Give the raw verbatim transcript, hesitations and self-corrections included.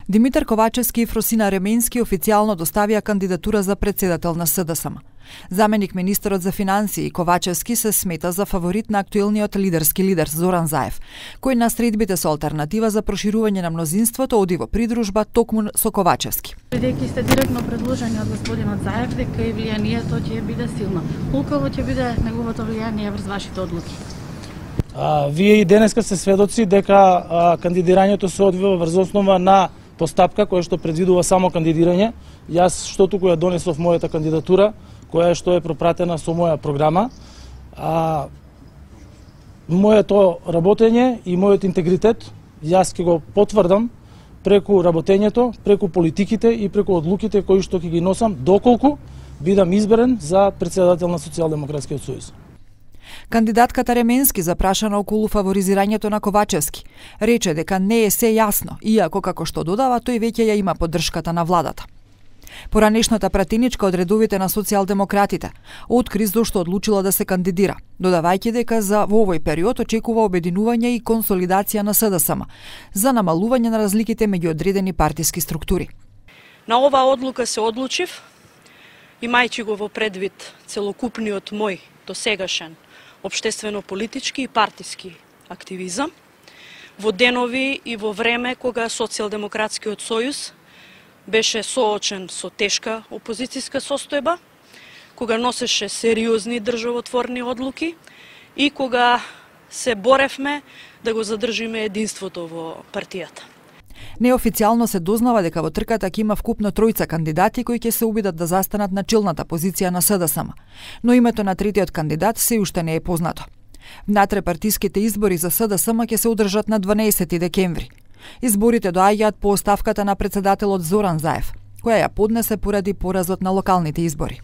Димитар Ковачевски и Фросина Ременски официјално доставија кандидатура за председател на СДСМ. Заменик министерот за финансии Ковачевски се смета за фаворит на актуелниот лидерски лидер Зоран Заев, кој на средбите со алтернатива за проширување на мнозинството оди во придружба токму со Ковачевски. Бидејќи сте директно предложени од господинот Заев дека и влијанието ќе биде силно. Колку ќе биде неговото влијание врз вашите одлуки? А, вие и денеска се сведоци дека а, кандидирањето се одвива врз основа на постапка која што предвидува само кандидирање. Јас што туку ја донесов мојата кандидатура, која што е пропратена со моја програма. А, моето работење и мојот интегритет јас ќе го потврдам преку работењето, преку политиките и преку одлуките кои што ќе ги носам доколку бидам изберен за председател на Социјалдемократскиот сојуз. Кандидатката Ременски запрашана околу фаворизирањето на Ковачевски, рече дека не е се јасно, иако како што додава тој веќе ја има поддршката на владата. Поранешната пратеничка од редовите на социјалдемократите откри зошто одлучила да се кандидира, додавајќи дека за во овој период очекува обединување и консолидација на СДСМ за намалување на разликите меѓу одредени партиски структури. На оваа одлука се одлучив, имајќи го во предвид целокупниот мој досегашен општествено-политички и партиски активизам, во денови и во време кога Социјалдемократскиот сојуз беше соочен со тешка опозицијска состојба, кога носеше сериозни државотворни одлуки и кога се боревме да го задржиме единството во партијата. Неофицијално се дознава дека во трката ќе има вкупно тројца кандидати кои ќе се обидат да застанат на челната позиција на СДСМ, но името на третиот кандидат се уште не е познато. Внатре-партиските избори за СДСМ ќе се одржат на дванаесети декември. Изборите доаѓаат по оставката на председателот Зоран Заев, која ја поднесе поради поразот на локалните избори.